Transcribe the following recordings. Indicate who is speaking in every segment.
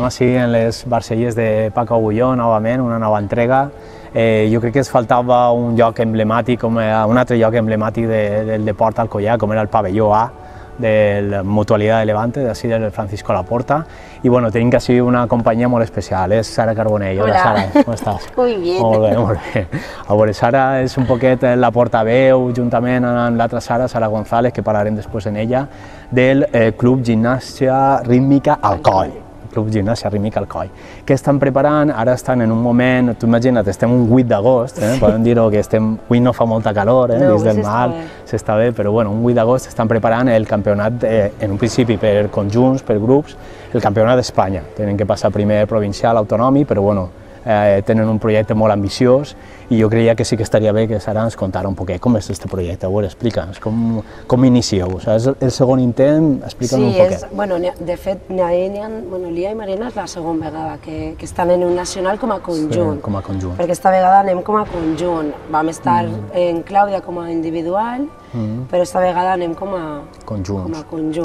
Speaker 1: estem així en les Barcelles de Paco Agulló, novament, una nova entrega. Jo crec que ens faltava un lloc emblemàtic, un altre lloc emblemàtic del deport alcoià, com era el pavelló A de la Mutualidad de Levante, d'ací del Francisco Laporta. I bueno, tenim així una companyia molt especial, és Sara Carbonell. Hola Sara, com estàs?
Speaker 2: Muy bien.
Speaker 1: Molt bé, molt bé. A veure, Sara és un poquet la portaveu, juntament amb l'altra Sara González, que parlarem després en ella, del Club Gimnàstica Rítmica Alcoi. Club Gimnàstica Rítmica Alcoi, que estan preparant, ara estan en un moment, tu imagina't, estem un 8 d'agost, podem dir-ho que avui no fa molta calor, dins del mar, s'està bé, però bueno, un 8 d'agost estan preparant el campionat, en un principi per conjunts, per grups, el campionat d'Espanya. Tenen que passar primer provincial, autonòmic, però bueno, tenen un projecte molt ambiciós i jo creia que sí que estaria bé que Sara ens contara un poquet com és aquest projecte. A veure, explica'ns, com inicieu? És el segon intent, explica'ns un poquet.
Speaker 2: Sí, de fet, Lia i Marina és la segona vegada que estan en un nacional com a conjunt.
Speaker 1: Sí, com a conjunt.
Speaker 2: Perquè aquesta vegada anem com a conjunt. Vam estar en Clàudia com a individual, però esta vegada anem com a conjunt.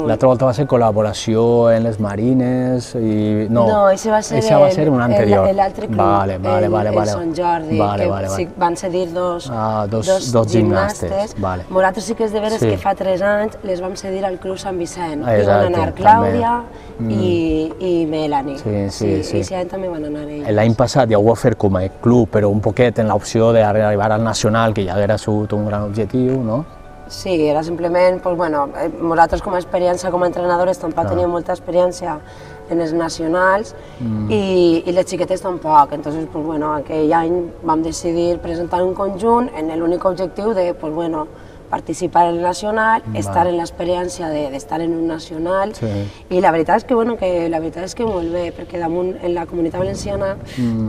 Speaker 1: L'altra volta va ser col·laboració en les Marines i...
Speaker 2: No, això va ser
Speaker 1: un anterior.
Speaker 2: L'altre club, el Sant Jordi, que van cedir dos gimnastes. Nosaltres sí que és de veres que fa 3 anys les vam cedir al Club Sant Vicent. I van anar Clàudia i Melanie. Sí, i aquest any també van anar ells.
Speaker 1: L'any passat ja ho va fer com a club, però un poquet en l'opció d'arribar al nacional, que ja haguera sigut un gran objectiu, no?
Speaker 2: Sí, era simplement, nosaltres com a experiència com a entrenadores tampoc teníem molta experiència en els nacionals i les xiquetes tampoc. Entonces, aquell any vam decidir presentar un conjunt en l'únic objectiu de participar en el nacional, estar en l'experiència d'estar en un nacional i la veritat és que molt bé, perquè damunt en la Comunitat Valenciana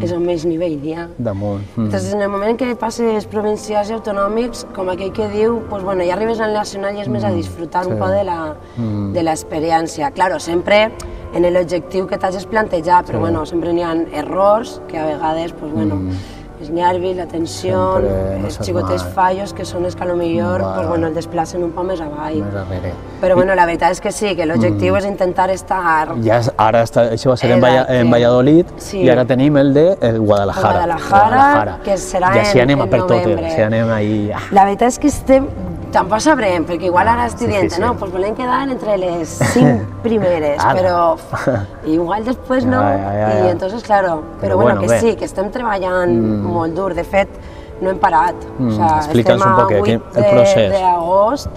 Speaker 2: és on més nivell hi ha. Entonces, en el moment que passes provincials i autonòmics, com aquell que diu, ja arribes al nacional i és més a disfrutar un poc de l'experiència. Claro, sempre en l'objectiu que t'hagis plantejat, però sempre n'hi ha errors que a vegades, els nervis, la tensió, els xicotes fallos, que són els que potser el desplacen un poc més avall. Però la veritat és que sí, que l'objectiu és intentar estar...
Speaker 1: Ara això va ser en Valladolid i ara tenim el de Guadalajara,
Speaker 2: que serà en novembre.
Speaker 1: I així anem per totes, anem ahí...
Speaker 2: La veritat és que estem... Tampoc sabrem, perquè igual ara estic dient, no, doncs volem quedar entre les 5 primeres, però igual després no, i entonces, claro, però bueno, que sí, que estem treballant molt dur, de fet, no hem parat, estem a 8 d'agost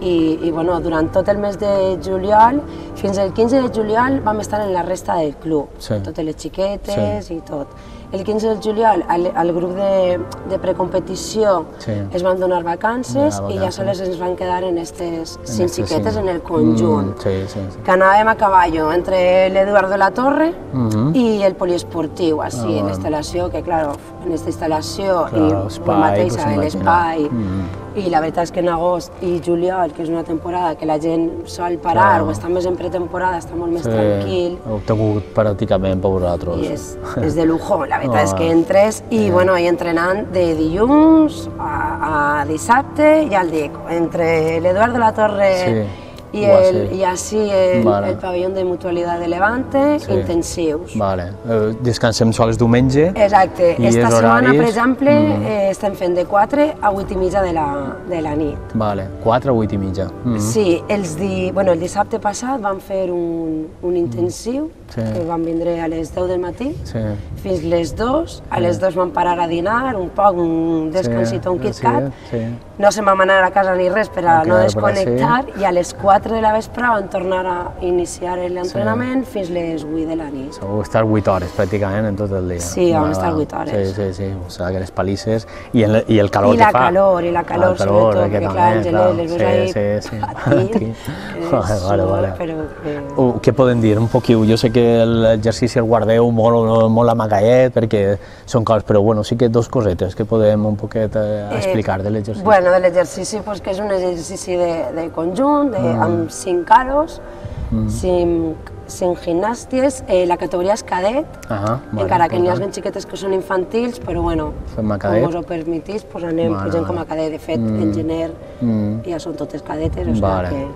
Speaker 2: i durant tot el mes de juliol, fins al 15 de juliol vam estar en la resta del club, totes les xiquetes i tot. El 15 de juliol al grup de precompetició es van donar vacances i ja sols ens van quedar en aquestes 5 xiquetes en el conjunt. Que anàvem a cavall entre l'Eduardo La Torre i el poliesportiu, així, en instal·lació, que clar, en aquesta instal·lació i mateixa, l'espai. I la veritat és que en agost i juliol, que és una temporada que la gent sol parar o està més en pretemporada, està molt més tranquil.
Speaker 1: Ho heu tingut pràcticament per vosaltres.
Speaker 2: I és de lujo, la veritat és que entres i entrenant de dilluns a dissabte, ja el dic, entre l'Eduardo La Torre i així el pavelló de Mutualitat de Levante, intensius.
Speaker 1: Descansem sols diumenge.
Speaker 2: Exacte. Esta setmana, per exemple, estem fent de 4 a 8 i mitja de la nit.
Speaker 1: 4 a 8 i mitja.
Speaker 2: Sí, el dissabte passat vam fer un intensiu, que vam vindre a les 10 del matí, fins les 2. A les 2 vam parar a dinar, un poc, un descansit, un KitKat. No se'n vam anar a casa ni res per a no desconnectar i a les 4 de la vespre vam tornar a iniciar l'entrenament fins les 8 de la nit.
Speaker 1: Vau estar 8 hores pràcticament en tot el dia.
Speaker 2: Sí, vam estar 8 hores.
Speaker 1: Sí, o sigui, aquelles palisses i el calor que fa.
Speaker 2: I la calor, sobretot, que clar, Angelet, les veus ahí patir.
Speaker 1: Què podem dir? Un poquiu, jo sé que l'exercici el guardeu molt amagallet perquè són coses, però bueno, sí que 2 cosetes que podem un poquet explicar de l'exercici.
Speaker 2: Bueno, de l'exercici, que és un exercici de conjunt, amb 5 calos, 5 en gimnàsties, la categoria és cadet, encara que n'hi ha xiquetes que són infantils, però bueno, com us ho permetís, doncs anem pujant com a cadet. De fet, en gener ja són totes cadetes, o sigui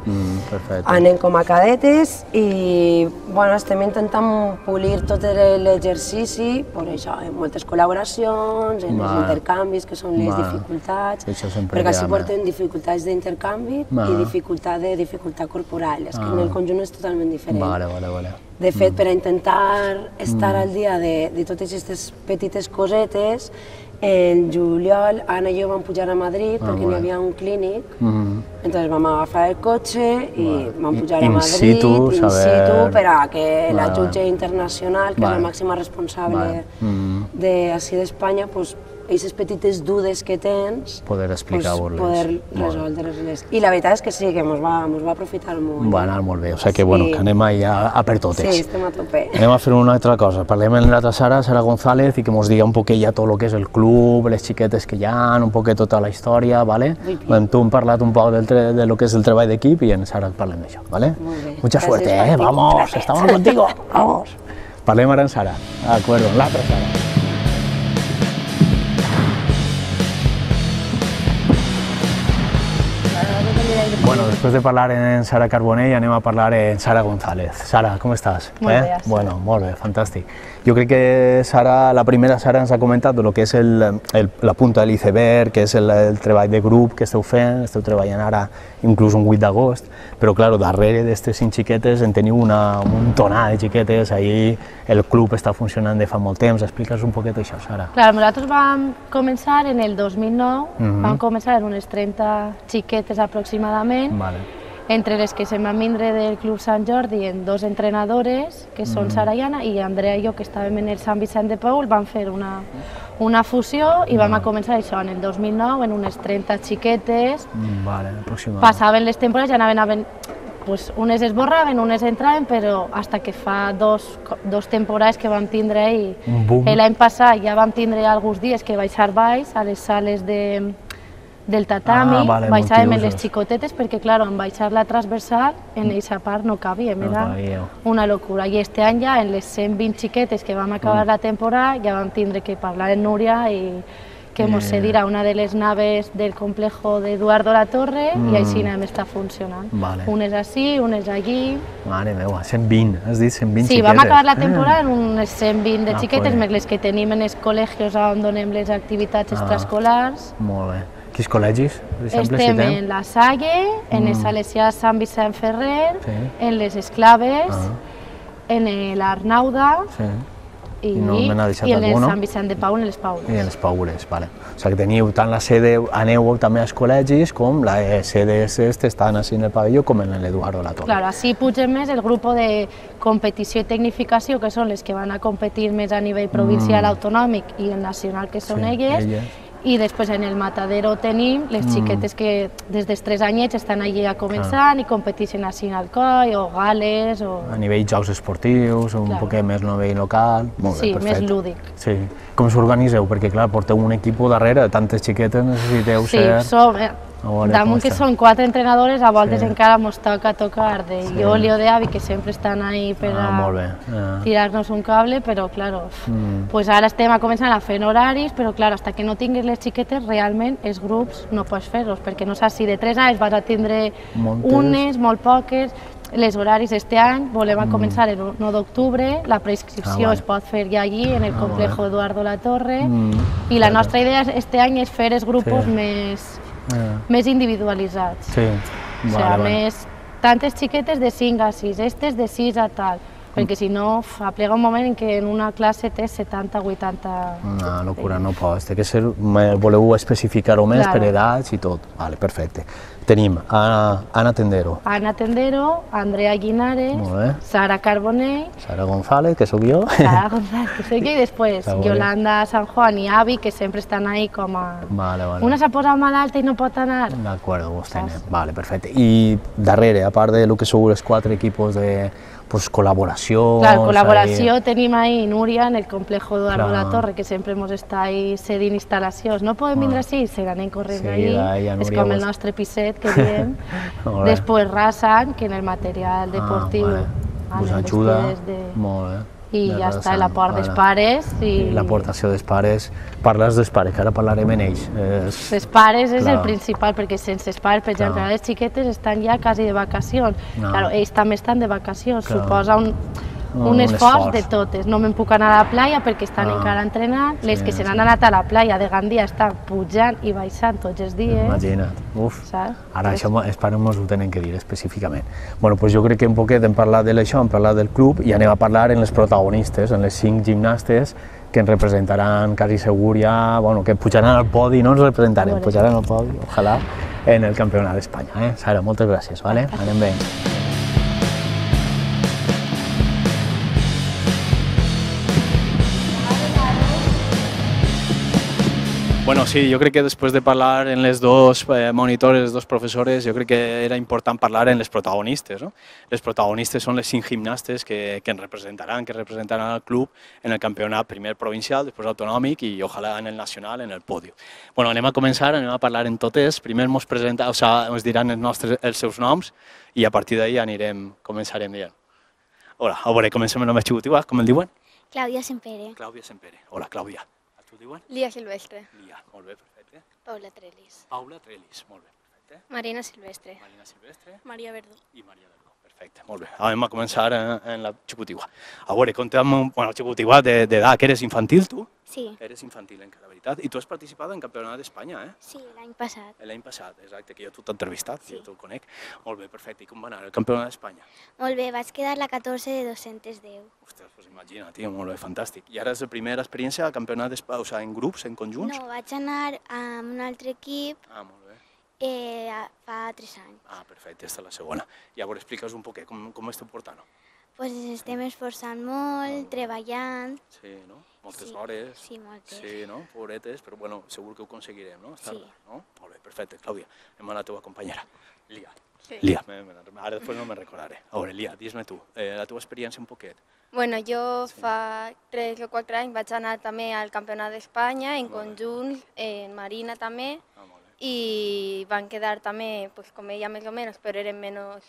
Speaker 2: que anem com a cadetes i bueno, estem intentant polir tot l'exercici, per això, en moltes col·laboracions, en els intercanvis, que són les dificultats, perquè així porten dificultats d'intercanvi i dificultat corporal, és que en el conjunt és totalment diferent. De fet, per a intentar estar al dia de totes aquestes petites cosetes, en juliol, Anna i jo vam pujar a Madrid perquè n'hi havia un clínic, entonces vam agafar el cotxe i vam pujar a Madrid in situ per a que la jutge internacional, que és la màxima responsable d'ací d'Espanya, aquestes petites dudes que tens,
Speaker 1: poder explicar-vos-les.
Speaker 2: Poder resoldre-les. I la veritat és que sí, que ens va aprofitar molt.
Speaker 1: Va anar molt bé, o sigui que anem a per totes.
Speaker 2: Sí, estem a tope.
Speaker 1: Anem a fer una altra cosa, parlem amb l'altra Sara González, i que ens diga un poquet ja tot el que és el club, les xiquetes que hi ha, un poquet tota la història, ¿vale? Amb tu hem parlat un poc de lo que és el treball d'equip i en Sara parlem d'això, ¿vale?
Speaker 2: Molt bé.
Speaker 1: Mucha suerte, vamos, estamos contigo, vamos. Parlem ara amb Sara, d'acord, amb l'altra Sara. Bueno, después de hablar en Sara Carbonell, anem a parlar en Sara González. Sara, com estàs?
Speaker 3: Molt bé, ja.
Speaker 1: Bueno, molt bé, fantàstic. Jo crec que Sara, la primera Sara ens ha comentat el que és la punta de l'iceberg, que és el treball de grup que esteu fent, esteu treballant ara inclús un 8 d'agost, però clar, darrere d'aquestes 5 xiquetes en teniu un tonà de xiquetes, ahir el club està funcionant de fa molt temps, explica'ns un poquet això, Sara.
Speaker 3: Clar, nosaltres vam començar en el 2009, vam començar en unes 30 xiquetes aproximadament, entre les que se'n van vindre del Club Sant Jordi en 2 entrenadores, que són Sara i Anna, i Andrea i jo, que estàvem en el Sant Vicent de Paül, vam fer una fusió i vam començar això en el 2009, en unes 30 xiquetes. Passaven les temporades, ja anaven, unes esborraven, unes entraven, però fins que fa dos temporades que vam tindre i l'any passat ja vam tindre alguns dies que baixar baix a les sales del tatami, baixàvem les xicotetes perquè, clar, en baixar la transversal, en aquesta part no cabíem, era una locura. I este any ja, en les 120 xiquetes que vam acabar la temporada, ja vam tindre que parlar amb Núria i que ens cedirà una de les naves del complejo d'Eduardo Latorre i així anem està funcionant. Unes ací, unes allí...
Speaker 1: Mare meva, 120, has dit 120 xiquetes.
Speaker 3: Sí, vam acabar la temporada en unes 120 de xiquetes, més les que tenim en els col·legis on donem les activitats extraescolars.
Speaker 1: Molt bé. Quins col·legis, per exemple,
Speaker 3: estem en la Salle, en el Salesià Sant Vicent Ferrer, en les Esclaves, en l'Arnauda i en el Sant Vicent de Paül, en les Paules.
Speaker 1: I en les Paules, vale. O sigui que teniu tant la sede, aneu també als col·legis, com les sedes estan així en el pavelló, com en l'Eduardo Latorre.
Speaker 3: Clar, així pugem més el grup de competició i tecnificació, que són les que van a competir més a nivell provincial, autonòmic i nacional, que són elles. I després en el Matadero tenim les xiquetes que des dels 3 anyets estan allí a començar i competeixen així en Alcoi o Gales o...
Speaker 1: A nivell jocs esportius, un poquet més a nivell local...
Speaker 3: Sí, més lúdic.
Speaker 1: Sí. Com s'organitzeu? Perquè clar, porteu un equip darrere, tantes xiquetes necessiteu ser...
Speaker 3: Sí, damunt que són 4 entrenadores, a voltes encara ens toca tocar de Ioli o d'Avi, que sempre estan ahí per a tirar-nos un cable, però clar, ara estem començant a fer horaris, però clar, fins que no tinguis les xiquetes, realment els grups no pots fer-los, perquè no saps si de 3 anys vas a tindre unes, molt poques. Les horaris este any volem començar el 9 d'octubre, la preinscripció es pot fer ja allí, en el complejo Eduardo Latorre, i la nostra idea este any és fer els grups més individualitzats. O sigui, més tantes xiquetes de 5 a 6, aquestes de 6 a tal, perquè si no, aplega un moment en què en una classe té 70 o 80...
Speaker 1: Una locura, no pot, té que ser, voleu especificar-ho més per edats i tot. Vale, perfecte. Tenim Anna Tendero.
Speaker 3: Anna Tendero, Andrea Guinares, Sara Carbonell...
Speaker 1: Sara González, que soc jo.
Speaker 3: Sara González, que soc jo, i després Yolanda San Juan i Avi, que sempre estan ahí com a... Una s'ha posat malalta i no pot anar.
Speaker 1: D'acord, vos tenim. Vale, perfecte. I darrere, a part de lo que sou els 4 equipos de col·laboració...
Speaker 3: Clar, col·laboració tenim ahí Núria en el complejo Eduardo Latorre, que sempre ens està ahí cedint instal·lacions. No podem vindre així, se n'anem corrent allí. És com el nostre piset, que diem. Després Rasan, que en el material deportiu
Speaker 1: us ajuda, molt bé.
Speaker 3: I ja està, la part dels pares.
Speaker 1: I l'aportació dels pares. Parles dels pares, que ara parlarem en ells.
Speaker 3: Els pares és el principal, perquè sense els pares, per exemple, les xiquetes estan ja quasi de vacacions. Claro, ells també estan de vacacions, suposa un esforç de totes. No me'n puc anar a la playa perquè estan encara entrenant. Les que se n'han anat a la playa de Gandia estan pujant i baixant tots els dies.
Speaker 1: Imagina't, ara això els pares mos ho tenen que dir específicament. Bueno, doncs jo crec que un poquet hem parlat d'això, hem parlat del club i anem a parlar en les protagonistes, en les 5 gimnastes que ens representaran quasi segur ja, bueno, que pujaran al podi, no ens representarem, pujaran al podi, ojalà, en el Campionat d'Espanya. Sara, moltes gràcies, anem bé. Bueno, sí, yo creo que después de hablar en los dos monitores, los dos profesores, yo creo que era importante hablar en los protagonistas, ¿no? Los protagonistas son los 5 gimnastes que representarán al club en el campeonato primer provincial, después autonòmic y ojalá en el nacional, en el podio. Bueno, anem a començar, anem a parlar en totes. Primer ens diran els seus noms i a partir d'ahí començarem dient. Hola, a veure, comencem amb el xicotiu, com el diuen?
Speaker 4: Clàudia Sempere.
Speaker 1: Clàudia Sempere. Hola, Clàudia. Tu diuen?
Speaker 4: Lia Silvestre.
Speaker 1: Lia, molt bé, perfecte.
Speaker 4: Paula Trelis.
Speaker 1: Paula Trelis, molt bé, perfecte.
Speaker 4: Marina Silvestre.
Speaker 1: Marina Silvestre.
Speaker 4: Maria Verdú.
Speaker 1: I Maria Verdú, perfecte, molt bé. Anem a començar en la xicotigua. A veure, conta'm, bueno, xicotigua d'edat, que eres infantil, tu?
Speaker 4: Sí.
Speaker 1: Eres infantil encara, veritat? I tu has participat en Campionat d'Espanya, eh?
Speaker 4: Sí, l'any passat.
Speaker 1: L'any passat, exacte, que jo t'he entrevistat, jo t'ho conec. Molt bé, perfecte. I com va anar el Campionat d'Espanya?
Speaker 4: Molt bé, vaig quedar la 14 de 210.
Speaker 1: Ostres, doncs imagina, tio, molt bé, fantàstic. I ara és la primera experiència al Campionat d'Espanya, o sigui, en grups, en conjunts?
Speaker 4: No, vaig anar amb un altre equip
Speaker 1: molt bé.
Speaker 4: fa 3 anys.
Speaker 1: Perfecte, aquesta és la segona. I llavors explica'ns un poquet com esteu portant-ho.
Speaker 4: Pues estem esforçant molt, treballant.
Speaker 1: Sí, no? Moltes hores.
Speaker 4: Sí, moltes.
Speaker 1: Sí, no? Pobretes, però bueno, segur que ho aconseguirem, no?
Speaker 4: Sí.
Speaker 1: No? Molt bé, perfecte. Clàudia, anem a la teva companyera. Lia.
Speaker 5: Sí.
Speaker 1: Lia, ara després no me'n recordaré. A veure, Lia, dis-me tu, la teva experiència un poquet.
Speaker 5: Bueno, jo fa 3 o 4 anys vaig anar també al Campionat d'Espanya en conjunt, en Marina també, i van quedar també, pues, com ella més o menys, però eren menys...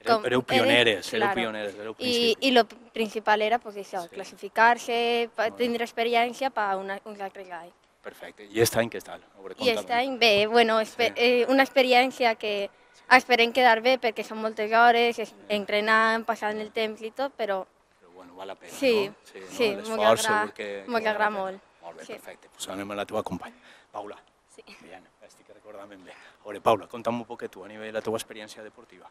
Speaker 1: Éreu pioneres, éreu pioneres, éreu principis.
Speaker 5: I el principal era pues, això, classificar-se, tindre experiència per un altre any.
Speaker 1: Perfecte. I aquest any què tal?
Speaker 5: I aquest any bé, bueno, una experiència que esperem quedar bé perquè són moltes hores, entrenant, passant el temps i tot, però...
Speaker 1: Però bueno, val la pena,
Speaker 5: sí,
Speaker 1: no?
Speaker 5: Sí, m'agrada molt.
Speaker 1: Molt bé, perfecte. Doncs anem a la teva companya. Paula.
Speaker 5: Sí.
Speaker 1: Bien, estic recordant ben bé. A veure, Paula, conta'm un poquet tu a nivell de la teva experiència deportiva.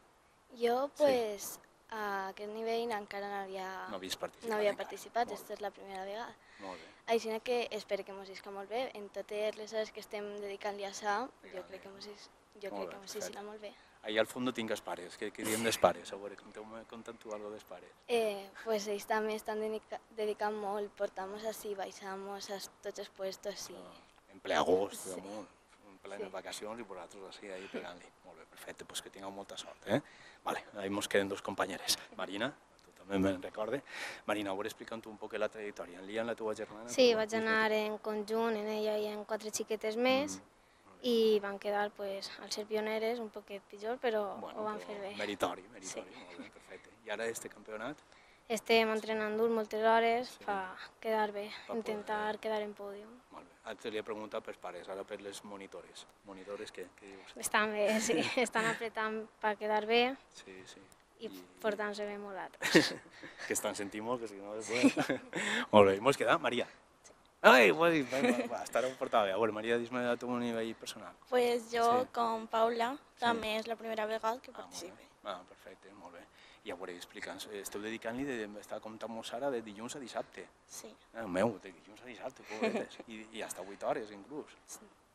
Speaker 4: Jo, pues, a aquest nivell encara no havia participat, aquesta és la primera vegada.
Speaker 1: Molt bé.
Speaker 4: Així que espero que mos isca molt bé. En totes les hores que estem dedicant-li a això, jo crec que mos isca molt bé.
Speaker 1: Allà al fons tinc els pares, què diem dels pares? A veure, conta'm tu alguna dels pares.
Speaker 4: Pues ells també estan dedicant molt, portamos així, baixamos a tots els puestos, sí.
Speaker 1: En ple agost, en plenes vacacions i vosaltres així, ahí pegant-li. Molt bé, perfecte, doncs que tingueu molta sort, eh? Vale, ahí ens queden 2 companyeres. Marina, tu també me'n recordes. Marina, a veure, explica'm tu un poc la trajectòria. En Lia, la teva germana?
Speaker 4: Sí, vaig anar en conjunt, en ella i en 4 xiquetes més, i van quedar, pues, al ser pioneres, un poquet pitjor, però ho van fer bé.
Speaker 1: Meritori, molt bé, perfecte. I ara este campionat?
Speaker 4: Estem entrenant dur moltes hores per quedar bé, intentar quedar en pòdium.
Speaker 1: Molt bé. Ara te li he preguntat pels pares, ara per les monitores. Monitores, què dius?
Speaker 4: Estan bé, sí. Estan apretant per quedar bé i portant-se bé molt altres.
Speaker 1: Que estan sentint molt, que si no després... Molt bé, i mos queda Maria. Ai, estarà portada bé. A veure, Maria, dis-me a tu un nivell personal.
Speaker 6: Pues jo, com Paula, també és la primera vegada que participe.
Speaker 1: Perfecte, molt bé. I a veure, explica'ns, esteu dedicant-li d'estar comptant-nos ara de dilluns a dissabte.
Speaker 6: Sí.
Speaker 1: Meu, de dilluns a dissabte, pobretes. I hasta 8 hores inclús.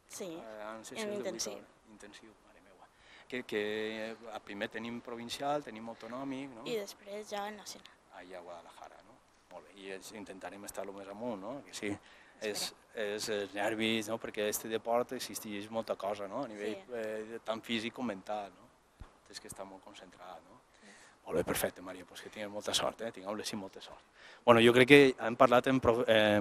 Speaker 6: Sí, en intensiu.
Speaker 1: Intensiu, mare meua. Que primer tenim provincial, tenim autonòmic, no?
Speaker 6: I després ja el nacional.
Speaker 1: Allà a Guadalajara, no? Molt bé, i intentarem estar el més amunt, no? Que sí, és els nervis, no? Perquè aquest deport existeix molta cosa, no? A nivell tant físic com mental, no? Tens que estar molt concentrat, no? Molt bé, perfecte, Maria, doncs que tingueu molta sort, tingueu-les i molta sort. Bueno, jo crec que hem parlat amb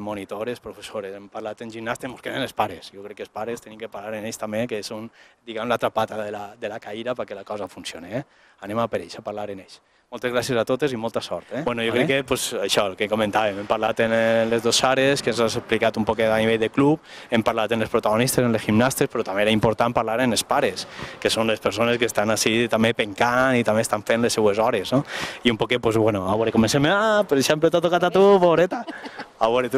Speaker 1: monitores, professores, hem parlat amb gimnastes, ens queden els pares. Jo crec que els pares tenim que parlar en ells també, que són, diguem, l'altra pata de la caïra perquè la cosa funcioni. Anem a per ells, a parlar en ells. Moltes gràcies a totes i molta sort. Bueno, jo crec que això, el que comentàvem, hem parlat en les dues Sares, que ens has explicat un poquet a nivell de club, hem parlat en els protagonistes, en les gimnastes, però també era important parlar en els pares, que són les persones que estan així també pencant i també estan fent les seues hores, no? I un poquet, bueno, a veure, comencem, per exemple, t'ha tocat a tu, pobreta. A veure,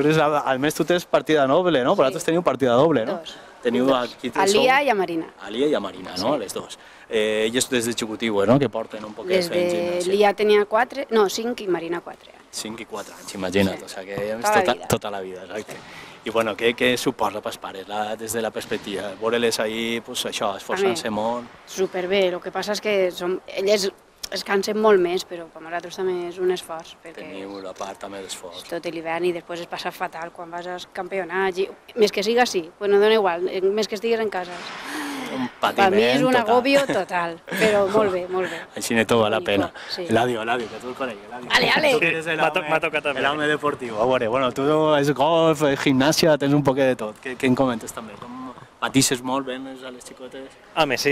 Speaker 1: almenys tu tens partida doble, no? Vosaltres teniu partida doble, no? Teniu aquí...
Speaker 7: A Lia i a Marina.
Speaker 1: A Lia i a Marina, no? Les dues. Elles des de xicotiu, no? Que porten un poquet fent gimnàstica.
Speaker 7: Des de Lia tenia 5 i Marina 4 anys.
Speaker 1: 5 i 4 anys, imagina't, o sigui que és tota la vida, exacte. I bueno, què suposa pels pares, des de la perspectiva? Veure-les ahir, això, esforçant-se molt...
Speaker 7: Superbé, el que passa és que elles es cansen molt més, però per nosaltres també és un esforç.
Speaker 1: Teniu la part també d'esforç.
Speaker 7: Tot l'hivern i després es passa fatal quan vas als campionats. Més que siga així, no dona igual, més que estigues en casa.
Speaker 1: Un patiment total.
Speaker 7: Per mi és un agobio total, però molt bé, molt bé.
Speaker 1: Així ne tot val la pena. Eladio, que tu el conegues.
Speaker 7: Ale!
Speaker 1: M'ha tocat també. L'home deportiu. A veure, bueno, tu és golf, gimnàsia, tens un poquet de tot. Què en comentes també? Patisses molt, venes a les xicotes?
Speaker 8: Home, sí,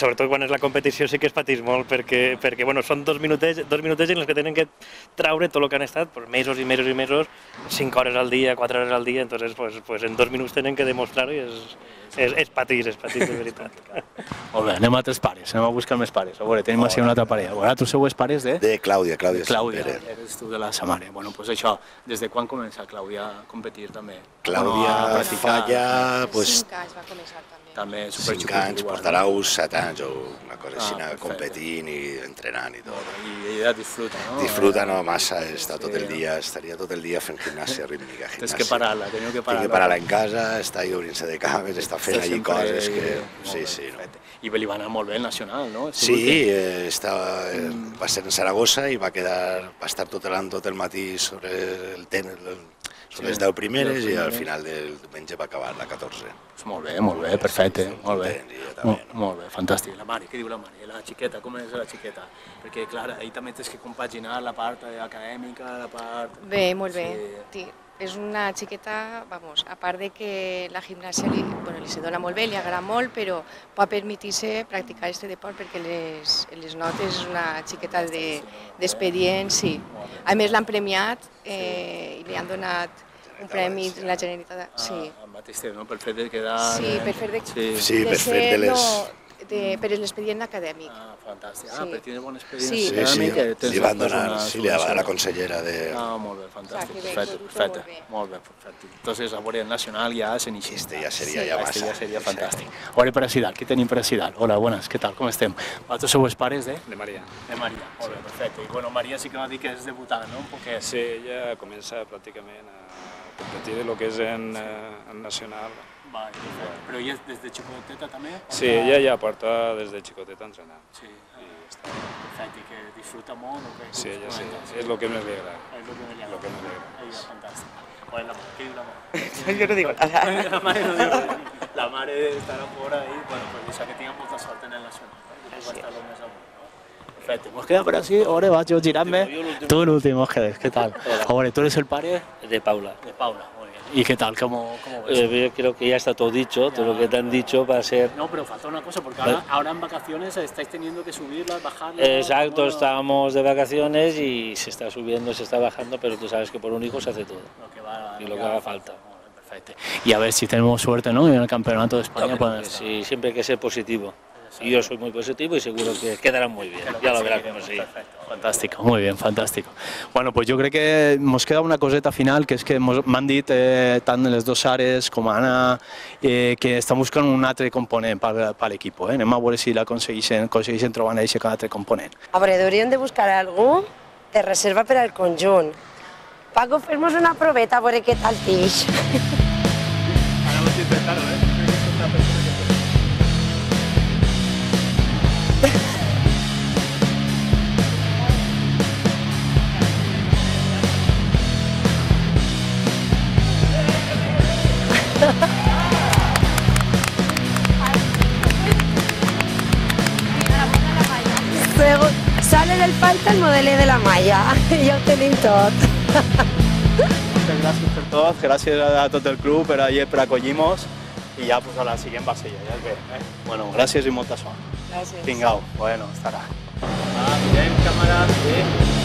Speaker 8: sobretot quan és la competició sí que es patís molt, perquè bueno, són 2 minutets en els que tenen que traure tot el que han estat, mesos i mesos i mesos, 5 hores al dia, 4 hores al dia, entonces en 2 minuts tenen que demostrar-ho i és patir de veritat.
Speaker 1: Molt bé, anem a altres pares, anem a buscar més pares. A veure, tenim així una altra parella. Vosaltres sou els pares de?
Speaker 9: De Clàudia.
Speaker 1: Clàudia, eres tu de la Samara. Bueno, doncs això, des de quan comença Clàudia a competir també?
Speaker 9: Clàudia fa ja...
Speaker 5: 5 anys va començar també.
Speaker 9: 5 anys, portarà uns 7 anys o una cosa així, competint i entrenant i tot.
Speaker 1: I ella disfruta, no?
Speaker 9: Disfruta, no massa, estaria tot el dia fent gimnàsia rítmica.
Speaker 1: Tens que parar-la, teniu que parar-la.
Speaker 9: Tinc que parar-la en casa, està obrint-se de cames, està fent allí coses que... Sí.
Speaker 1: I li va anar molt bé el nacional, no?
Speaker 9: Sí, va ser en Saragossa i va estar tot el matí sobre les 10 primeres i al final del diumenge va acabar la 14.
Speaker 1: Molt bé, perfecte, molt bé, fantàstic. La Mari, què diu la Mari? La xiqueta, com és la xiqueta? Perquè, clar, ahir també tens que compaginar la part acadèmica, la part...
Speaker 10: Bé, molt bé. És una xiqueta, a part de que la gimnàsia li se dona molt bé, li agrada molt, però pot permetir-se practicar aquest deport perquè les notes és una xiqueta d'expedient, sí. A més l'han premiat i li han donat un premi de la Generalitat, sí.
Speaker 1: Al mateix temps, no? Per fet de quedar...
Speaker 10: Sí, per fet
Speaker 9: de les...
Speaker 10: per l'expedient acadèmic.
Speaker 1: Fantàstic. Per tenir bon expedient acadèmic...
Speaker 9: Sí, li van donar, a la consellera de...
Speaker 1: Molt bé, fantàstic, perfecte. Molt bé, perfecte. Entonces, a veure, el nacional ja s'inicia.
Speaker 9: Ja seria massa.
Speaker 1: Ja seria fantàstic. A veure, per a Sidal, què tenim per a Sidal? Hola, buenas, què tal, com estem? Vosaltres sou els pares de?
Speaker 11: De Maria.
Speaker 1: De Maria, molt bé, perfecte. I bueno, Maria sí que va dir que és debutant, no? Un poquet.
Speaker 11: Sí, ella comença pràcticament a competir en el que és en nacional.
Speaker 1: Però ella des de xicoteta també?
Speaker 11: Sí, ella ja porta des de xicoteta entrenant.
Speaker 1: Sí, perfecte, i que disfruta molt o què?
Speaker 11: Sí, ella sí, és el que més li agrada.
Speaker 1: És el que més li agrada. Ella és fantàstica. Què diu la mare?
Speaker 12: Jo no dic nada.
Speaker 1: La mare no diu res. La mare estarà fora i, bueno, pues deixa que tinga molta sort en el nacional. Perfecte, hemos quedado por así, ahora vas yo girarme. Tú el último, Ángeles, ¿qué tal? Ahora, ¿tú eres el padre?
Speaker 13: De Paula.
Speaker 1: De Paula, muy bien. ¿Y qué tal? ¿Cómo ves?
Speaker 13: Yo creo que ya está todo dicho, todo lo que te han dicho va a ser...
Speaker 1: No, pero falta una cosa, porque ahora en vacaciones estáis teniendo que subirlas, bajarlas...
Speaker 13: Exacto, estábamos de vacaciones y se está subiendo, se está bajando, pero tú sabes que por un hijo se hace todo. Y lo que haga falta.
Speaker 1: Perfecto. Y a ver si tenemos suerte, ¿no? En el campeonato de España.
Speaker 13: Sí, siempre hay que ser positivo. Y yo soy muy positivo y seguro que quedarán muy bien. Ya lo verás como sí.
Speaker 1: Fantástico, muy bien, fantástico. Bueno, pues yo creo que nos queda una coseta final, que és que m'han dit tant les dues Sares com Anna que estan buscant un altre component per l'equip. Anem a veure si l'aconsegueixen trobar aquest altre component.
Speaker 2: A veure, hauríem de buscar algú de reserva per al conjunt. Paco, fem-nos una proveta a veure què tal tix.
Speaker 1: Ara ho estic intentant,
Speaker 2: Sale el falta el modelet de la malla, ja ho tenim tot.
Speaker 1: Moltes gràcies per tot, gràcies a tot el club per acollir-nos i ja pues, a la següent va ser ja es ve. Bueno, gràcies i molta sort.
Speaker 2: Gràcies.
Speaker 1: Vinga, bueno, estarà. Mirem, càmera, sí.